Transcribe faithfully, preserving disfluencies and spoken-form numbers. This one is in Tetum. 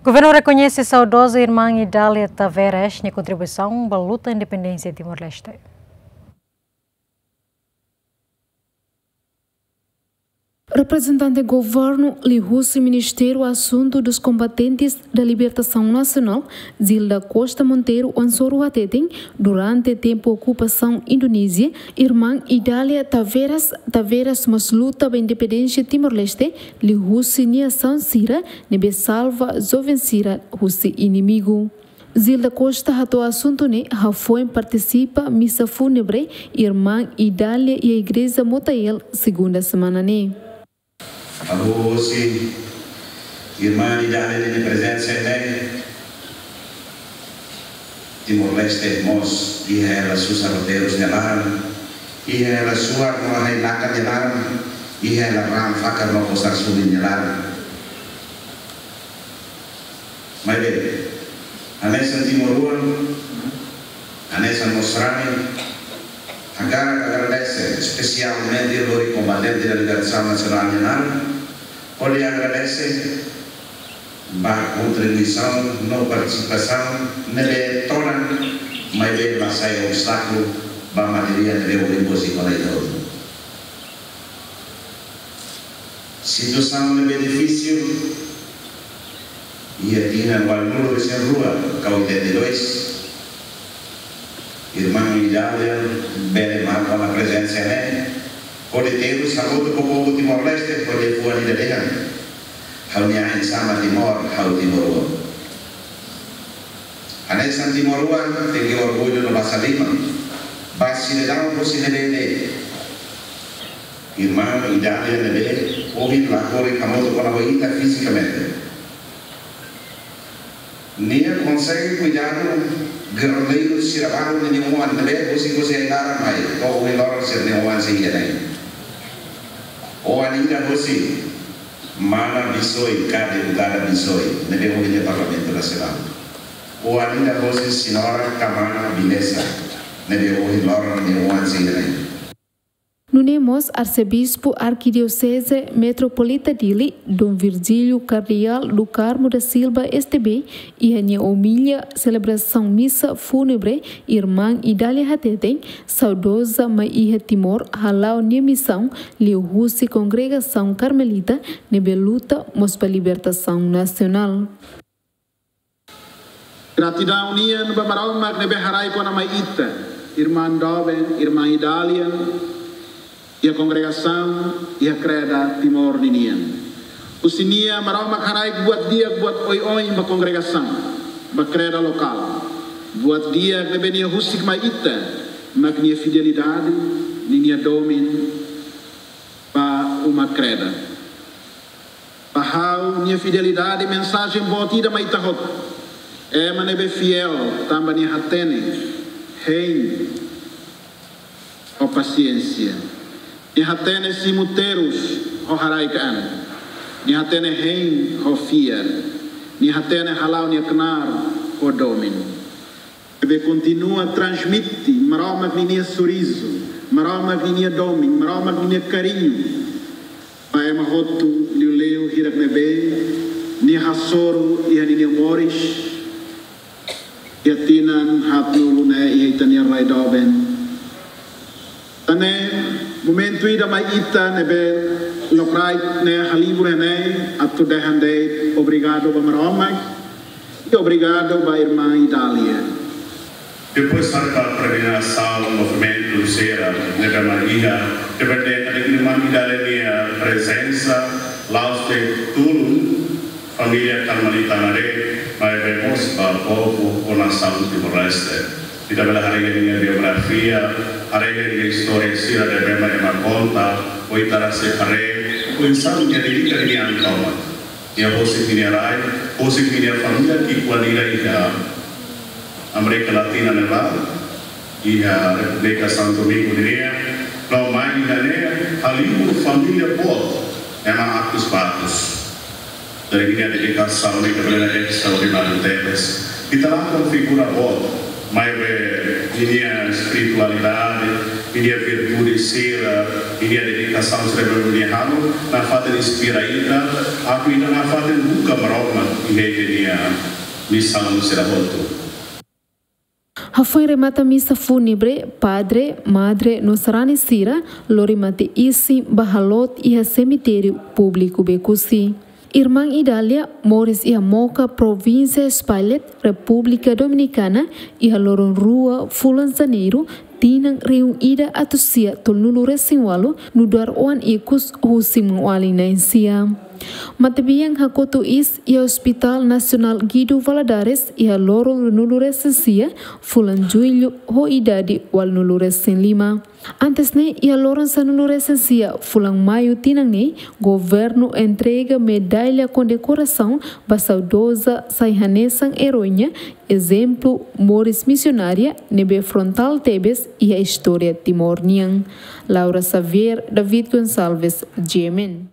Governu rekoñese saudoza irmán Idália Tavares nia kontribuisaun ba luta independénsia Timor-Leste. Reprezentante governu liuhusi Ministériu Asuntu dos Kombatentes da Libertasaun Nasionál, Zilda Costa Monteiro Ansoro hateten, durante tempu okupasaun Indonézia, irmán Idália Tavares, Tavares mós luta ba independénsia Timor-Leste, liuhusi nia asaun sira ne'ebé salva joven sira husi inimigu. Zilda Costa hato'o asuntu ne'e hafoin partisipa misa fúnebre irmán Idália iha igreja Motael, segunda semana ne'e. Hahú hosi irmán Idália nia prezensa ne'e, Timor-Leste mós iha hela susar roteiru nia laran, iha hela suar no hai-nakan nia laran, iha hela raan fakar no kosar suli nia laran. Maibé, hanesan timoroan, hanesan mós sarani, hakarak agradese espesialmente lori Kombatente da Libertasaun Nasionál nia naran, hodi agradese ba kontribuisaun no partisipasaun ne'ebé todan, maibé la sai obstákulu ba matéria ne'ebé ohin hosi kona ita hotu. Situasaun ne'ebé difisil, iha tinan ualunulu resin rua ka oitenta e dois, irmán Idália bele marka ona prezensa ne'e, hodi terus hamutuk ho povu Timor-Leste, hodi fuan ida dehan: Ha'u-nia ain sama Timor, ha'u timoroan. Hanesan timoroan, tenke orgullu no basa liman ba sidadaun hosi ne'ebé de'it. Irmán Idália ne'ebé ohin la hodi hamutuk ona ho ita fizikamente, nia konsege kuidadu gerrilleiru sira balu nia oan ne'ebé hosi, hosi ai-laran mai to'o ohin loron sira-nia oan sei iha ne'e. Oan ida hosi mana Bisoi ka deputada Bisoi ne'ebé ohin iha Parlamentu Nasionál. Oan ida hosi señora ka mana Bilesa ne'ebé ohin loron nia oan sei iha ne'e. Nune'e mós Arsebispu Arkidioseze Metropolita Dili, Dom Virgílio Kardeál do Carmo da Silva, S T B, iha nia omilia selebrasaun misa fúnebre irmán Idália hateten, saudoza mai iha Timor hala'o nia misaun liuhusi kongregasaun Karmelita ne'ebé luta mós ba libertasaun nasionál. Gratidaun nian ba Maromak ne'ebé haraik ona mai ita, irmán doben, irmán Idália, iha kongregasaun, iha kreda Timor ninian. Husi nia Maromak haraik buat di'ak, buat oioin ba kongregasaun, ba kreda lokál. Buat di'ak ne'ebé nia husik mai ita, mak nia fidelidade, ninia domin ba uma kreda. Ba ha'u, nia fidelidade mensajen boot ida mai ita hotu. Ema ne'ebé fiél tanba nia hatene hein ho pasiénsia. Nia hatene simu terus ho haraik an. Nia hatene hein ho fiar. Nia hatene hala'o nia knaar ho domin. Ne'ebé kontinua transmite Maromak ninia sorizu, Maromak ninia domin, Maromak ninia kariñu ba ema hotu, liuliu hirak ne'ebé nia hasoru iha ninia moris, iha tinan haatnulu ne'e iha ita-nia rai doben. Tan ne'e, momentu ida mai ita ne'ebé lokraik ne'e halibur iha ne'e atu dehan de'it obrigadu ba Maromak, i obrigadu ba irmán Idália. Depois, haree ba peregrinasaun, movimentu sira ne'ebé mak iha, depende de irmán Idália nia prezensa, la'ós de'it tulun família Karmelita ne'e de'it, maibé mós ba povu ho nasaun Timor-Leste. Ita bele haree ninia biografia, haree ninia istória sira ne'ebé mak ema konta, ou ita rasik haree, ou insan nia dedika ninia an tomak. Nia husik ninia rai, husik ninia família ki'ikoan ida iha Amérika Latina ne'ebá, iha Repúblika Santo Domingo nian, no mai iha ne'e, halibur família boot, ema atus ba atus. Jadi nia dedikasaun ne'e ita bele dehan estraordináriu tebes. Ita lakon figura boot, maibé Ninia espiritualidade, ninia virtude sira, ninia dedikasaun sira ne'ebé nia halo, nafatin inspira ita, atu ita nafatin buka Maromak iha ita-nia misaun sira hotu. Hafoin remata misa fúnebre, padre, madre no sarani sira lori mate isin ba halot iha semitériu públiku Becusi. Irmán Idália moris iha Moca, provínsia Spailet, Repúblika Dominikana, iha loron rua fulan Janeiru, tinan rihun ida atus sia tolunulu resin ualu, nu'udar oan ikus husi maun-alin na'in sia. Matebian hakotu iis iha Hospital Nasionál Guido Valadares iha loron ruanulu resin sia fulan Jullu ho idade ualunulu resin lima. Antes ne'e, iha loron sanulu resin sia fulan Maiu tinan ne'e, governu entrega medalla kondekorasaun ba saudoza sai hanesan eroiña, ezemplu moris misionária ne'ebé frontál tebes iha istória Timor nian. Laura Xavier, David Gonçalves, G M N.